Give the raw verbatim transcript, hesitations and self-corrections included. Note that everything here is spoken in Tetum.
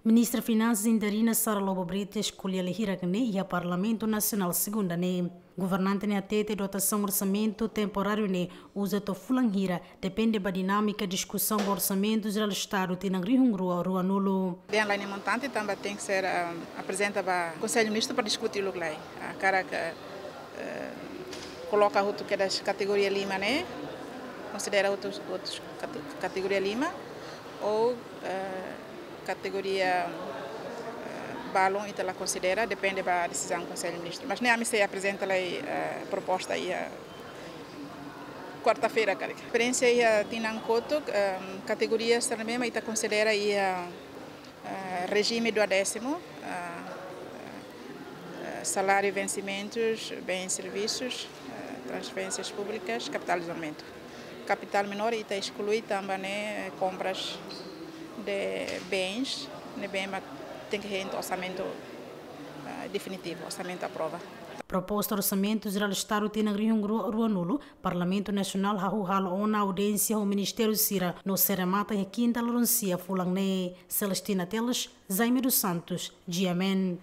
Ministra Finansas interina Sara Lobo Brites ko'alia hirak ne'e iha Parlamentu Nasionál segunda ne'e. Governante ne'e hatete dotasaun orsamentu temporáriu ne'e uza to'o fulan hira, depende ba dinámika diskusaun ba Orsamentu Jerál Estadu tinan rihun rua ruanulu. Dehan la iha montante tanba tenke ser, ah, aprezenta ba Konsellu Ministru para diskute uluk lai. Ah, karik, eh, koloka hotu kedas kategoria lima ne'e, konsidera hotu, hotu kate-, kategoria lima, ou, eh, kategoria, eh, balun ita la konsidera, depende ba desizaun Konsellu Ministru. Mas ne'e ami sei aprezenta lai, eh, proposta iha kuarta-feira karik. Esperiénsia iha tinan kotuk, eh, kategoria sira ne'ebé mak ita konsidera iha, eh, rejime duodésimu, eh, eh, saláriu, vensimentus, bens, servisus, eh, transferénsias públikas, kapitál izolamento. Kapitál menór ita esklui tanba ne'e, eh, kompras de bens, ne'ebé mak tenke hein to'o orsamentu, eh, definitivu, orsamentu aprova. Proposta Orsamentu Jerál Estadu tinan rihun rua ruanulu, Parlamentu Nasionál hahú halo ona audiénsia ho ministériu sira no sei remata iha kinta loron sia fulan ne'e. Celestina Teles, Jaime dos Santos, G M N.